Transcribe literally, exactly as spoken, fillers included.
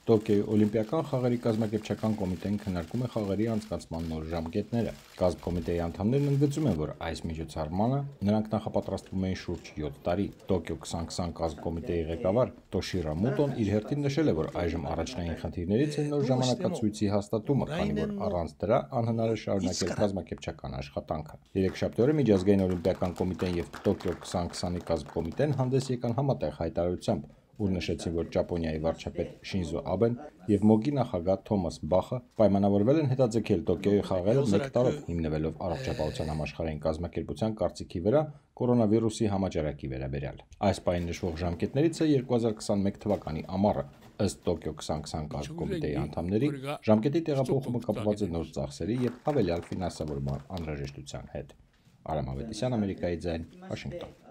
Տոկիոյի օլիմպիական խաղերի կազմակերպչական կոմիտեն քննարկում է խաղերի անցկացման նոր ժամկետները։ Կազմկոմիտեի անդամներն ընդգծում են, որ այս միջոցառմանը նրանք նախապատրաստվում էին շուրջ յոթ տարի։ Տոկիո քսան քսան կազմկոմիտեի ղեկավար Տոշիրա Մոտոն իր հերթին նշել է, որ այժմ առաջնային խնդիրներից է նոր ժամանակացույցի հաստատումը, քանի որ առանց դրա անհնար է շարունակել կազմակերպչական աշխատանքը։ Երեքշաբթի օրը Միջազգային օլիմպիական կոմիտեն եւ Տոկիո քսան քսանի կազմկոմիտեն հանդես եկան համատեղ հայտարարությամբ, ուր նշեցին, որ Ճապոնիայի վարչապետ Շինզո Աբեն եւ ՄՕԿ-ի նախագահ Թոմաս Բախը պայմանավորվել են հետաձգել Տոկիոյի խաղերը մեկ տարով, հիմնվելով առողջապահության համաշխարհային կազմակերպության կարծիքի վրա կորոնավիրուսի համաճարակի վերաբերյալ։ Այս պահին նշվող ժամկետներից է երկու հազար քսանմեկ թվականի ամառը։ Ըստ Տոկիո քսան քսան կազմկոմիտեի անդամների, ժամկետի տեղափոխումը կապված է նոր ծախսերի եւ հավելյալ ֆինանսավորման անհրաժեշտության հետ։ Արամ Ավետիսյան, Ամերիկայի ձայն, Վաշինգտոն։